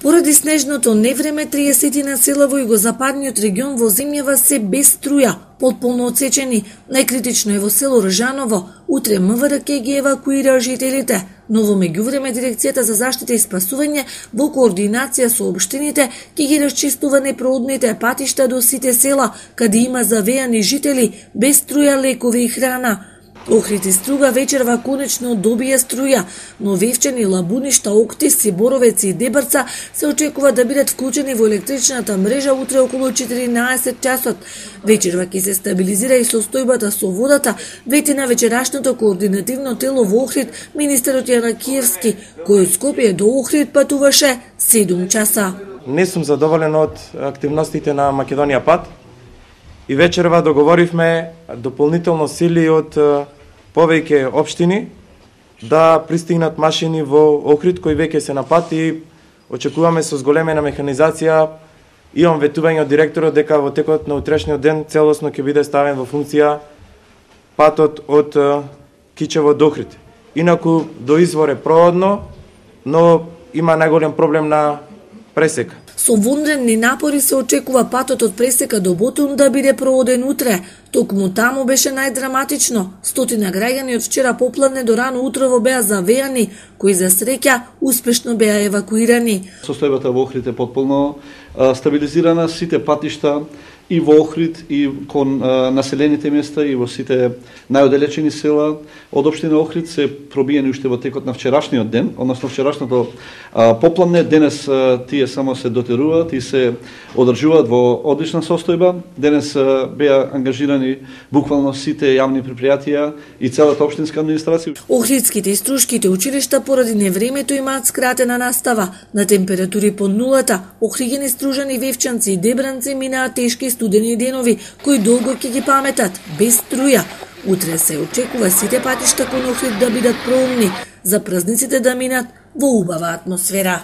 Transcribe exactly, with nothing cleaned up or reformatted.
Поради снежното невреме, триесет села во југозападниот регион во земјава се без струја, потполно отсечени. Најкритично е во село Ржаново. Утре МВР ќе ги евакуира жителите, но во меѓувреме дирекцијата за заштита и спасување во координација со општините ќе ги расчистува непроодните патишта до сите села, каде има завеани жители без струја, лекови и храна. Охрид и Струга вечерва конечно добија струја, но Вевчани, Лабуништа, Октис, Боровец и Дебарца се очекува да бидат вклучени во електричната мрежа утре околу четиринаесет часот. Вечерва ќе се стабилизира и состојбата со водата, вети на вечерашното координативно тело во Охрид министерот Јана Киевски, кој од Скопје до Охрид патуваше седум часа. Не сум задоволен од активностите на Македонија Пат и вечерва договоривме дополнително сили од повеќе општини да пристигнат машини во Охрид кои веќе се на пат и очекуваме со зголемена механизација. Имам ветување од директорот дека во текот на утрешниот ден целосно ќе биде ставен во функција патот од Кичево до Охрид. Инаку до извор е проводно, но има најголем проблем на пресека. Со вонредни напори се очекува патот од Пресека до Ботун да биде проводен утре. Токму таму беше најдраматично. Стотина граѓани од вчера попладне до рано утрово беа завеани, кои за среќа успешно беа евакуирани. Состојбата во Охрид е потполно стабилизирана, сите патишта и во Охрид и кон а, населените места и во сите најоделечени села од општина Охрид се пробиени уште во текот на вчерашниот ден, односно вчерашното а, попладне. Денес а, тие само се дотеруваат и се одржуваат во одлична состојба. Денес а, беа ангажирани буквално сите јавни предпријатија и целата општинска администрација. Охридските и Струшките училишта поради невремето имаат скратена настава. На температури под нулата, Охриѓани, Стружани, Вевчанци и Дебранци минаат тешки студени денови, кои долго ќе ги паметат, без струја. Утре се очекува сите патишта кон Охрид да бидат проумни, за празниците да минат во убава атмосфера.